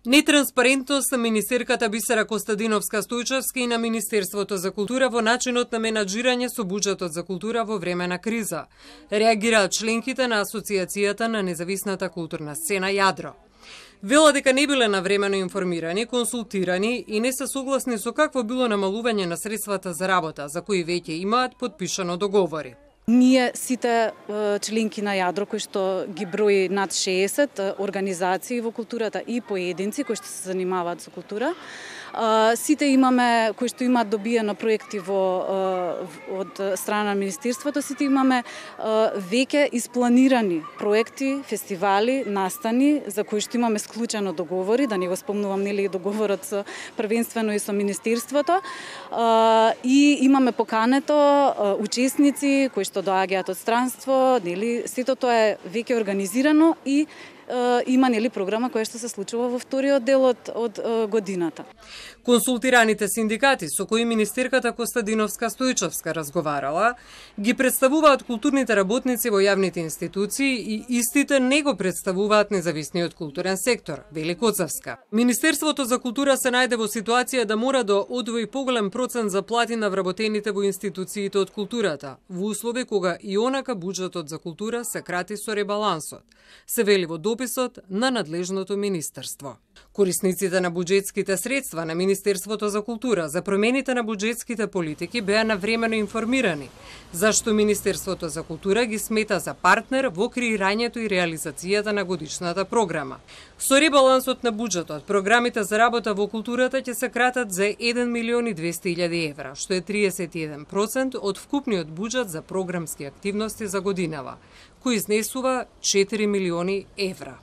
Нетранспарентност на министерката Бисера Костадиновска-Стојчевска и на Министерството за култура во начинот на менаџирање со буџетот за култура во време на криза, реагираат членките на Асоциацијата на независната културна сцена Јадро. Велат дека не биле навремено информирани, консултирани и не се согласни со какво било намалување на средствата за работа, за кои веќе имаат подпишано договори. Ние сите членки на Јадро, кои што ги брои над 60 организации во културата и поединци кои што се занимаваат со култура, сите имаме, кои што имаат добиено проекти од страна на Министерството, сите имаме веќе испланирани проекти, фестивали, настани, за кои што имаме склучено договори, да не го спомнувам нели договорот со првенствено и со Министерството, и имаме покането учесници кои што доаѓаат од странство, нели сето тоа е веќе организирано и има нели програма која што се случува во вториот дел од годината. Консултираните синдикати со кои министерката Костадиновска-Стојчевска разговарала, ги представуваат културните работници во јавните институции и истите не го представуваат независниот културен сектор, вели Коцевска. Министерството за култура се најде во ситуација да мора да одвои поголем процент за плати на вработените во институциите од културата, во услови кога и онака буџетот за култура се крати со ребалансот, се вели во дописот на надлежното министерство. Корисниците на буџетските средства на Министерството за култура за промените на буџетските политики беа навремено информирани, зашто Министерството за култура ги смета за партнер во креирањето и реализацијата на годишната програма. Со ребалансот на буџетот, програмите за работа во културата ќе се кратат за 1.200.000 евра, што е 31% од вкупниот буџет за програмски активности за годинава, кој изнесува 4 милиони евра.